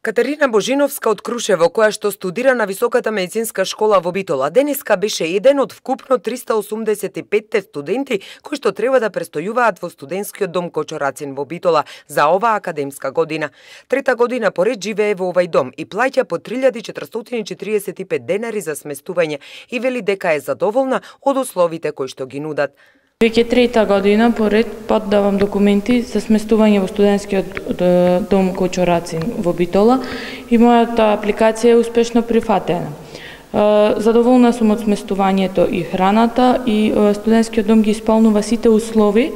Катерина Божиновска од Крушево, која што студира на Високата медицинска школа во Битола, денеска беше еден од вкупно 385 студенти кои што треба да престојуваат во студентскиот дом Кочо Рацин во Битола за оваа академска година. Трета година поред живее во овај дом и плаќа по 3445 денари за сместување и вели дека е задоволна од условите кои што ги нудат. Веќе трета година поред подавам документи за сместување во студентскиот дом Кочо Рацин во Битола и мојата апликација е успешно прифатена. Задоволна сум од сместувањето и храната и студентскиот дом ги исполнува сите услови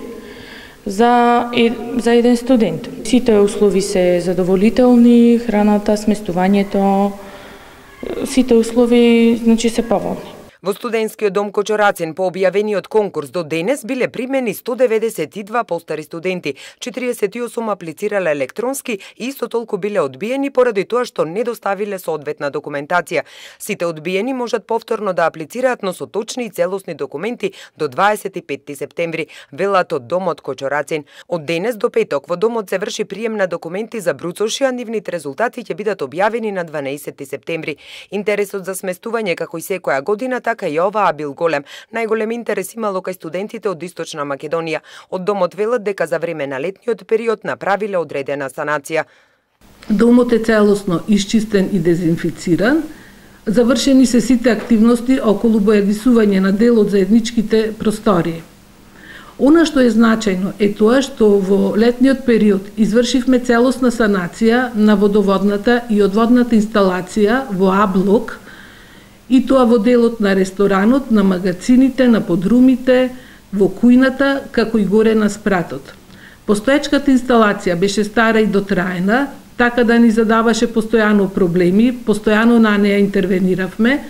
за еден студент. Сите услови се задоволителни, храната, сместувањето, сите услови се поволни. Во студентскиот дом Кочо Рацин по објавениот конкурс до денес биле примени 192 постари студенти, 48 аплицирале електронски и исто толку биле одбиени поради тоа што не доставиле соодветна документација. Сите одбиени можат повторно да аплицираат, но со точни и целосни документи до 25 септември, велат од домот Кочо Рацин. Од денес до петок во домот се врши прием на документи за бруцоши, а нивните резултати ќе бидат објавени на 12 септември. Интересот за сместување како и секоја година така и оваа бил голем. Најголем интерес имало кај студентите од Источна Македонија. Од домот велат дека за време на летниот период направиле одредена санација. Домот е целосно исчистен и дезинфициран. Завршени се сите активности околу боядисување на дел од заедничките простории. Она што е значајно е тоа што во летниот период извршивме целосна санација на водоводната и одводната инсталација во А блок, и тоа во делот на ресторанот, на магацините, на подрумите, во кујната, како и горе на спратот. Постоечката инсталација беше стара и дотраена, така да ни задаваше постојано проблеми, постојано на неја интервениравме,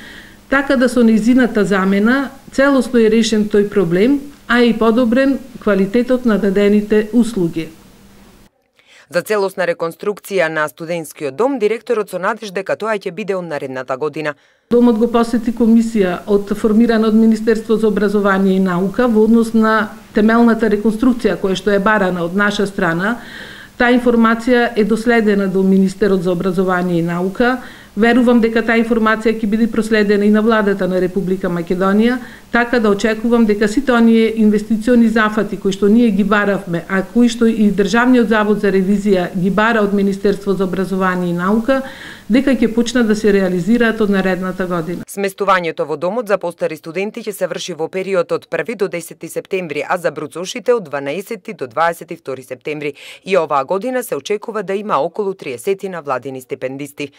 така да со нејзината замена целосно е решен тој проблем, а и подобрен квалитетот на дадените услуги. За целосна реконструкција на студентскиот дом, директорот со надеж дека тоа ќе биде од наредната година. Домот го посети комисија формирана од Министерство за образование и наука во однос на темелната реконструкција која што е барана од наша страна. Таа информација е доследена до Министерот за образование и наука. Верувам дека таа информација ќе биде проследена и на владата на Република Македонија, така да очекувам дека сите оние инвестициони зафати кои што ние ги баравме, а кои што и Државниот завод за ревизија ги бара од Министерство за образование и наука, дека ќе почнат да се реализираат од наредната година. Сместувањето во домот за постари студенти ќе се врши во период од 1 до 10 септември, а за бруцошите од 12 до 22 септември. И оваа година се очекува да има околу 30 владини стипендисти.